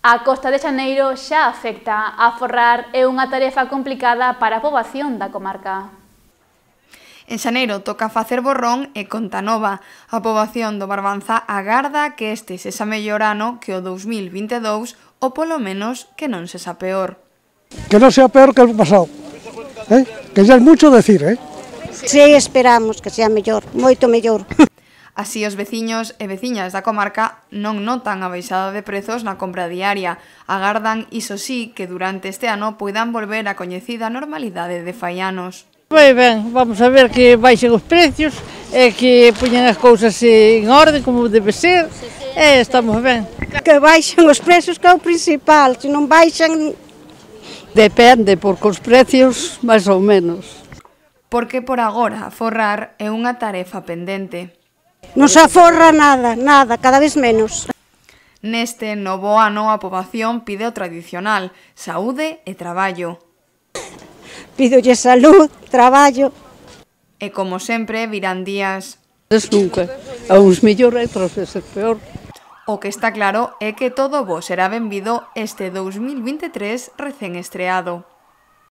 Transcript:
A costa de Xaneiro xa afecta. Aforrar é unha tarefa complicada para a poboación da comarca. En xaneiro toca facer borrón e conta nova. A poboación do Barbanza agarda que este sexa mellor ano que o 2022 ou polo menos que non sexa peor. Que non sea peor que o pasado, que xa é mucho decir, Si, esperamos que sea mellor, moito mellor. Así, os veciños e veciñas da comarca non notan a baixada de prezos na compra diaria. Agardan, iso sí, que durante este ano poidan volver a coñecida normalidade de fai anos. Vai ben, vamos a ver que baixen os precios e que poñan as cousas en orden como debe ser e estamos ben. Que baixen os prezos que é o principal, se non baixan... Depende, porque os precios máis ou menos. Porque por agora aforrar é unha tarefa pendente. Non se aforra nada, nada, cada vez menos. Neste novo ano a poboación pide o tradicional, saúde e traballo. Pídolle salud, traballo. E como sempre virán días. Nunca, a uns mellor e outras veces peor. O que está claro é que todo bo será benvido este 2023 recén estreado.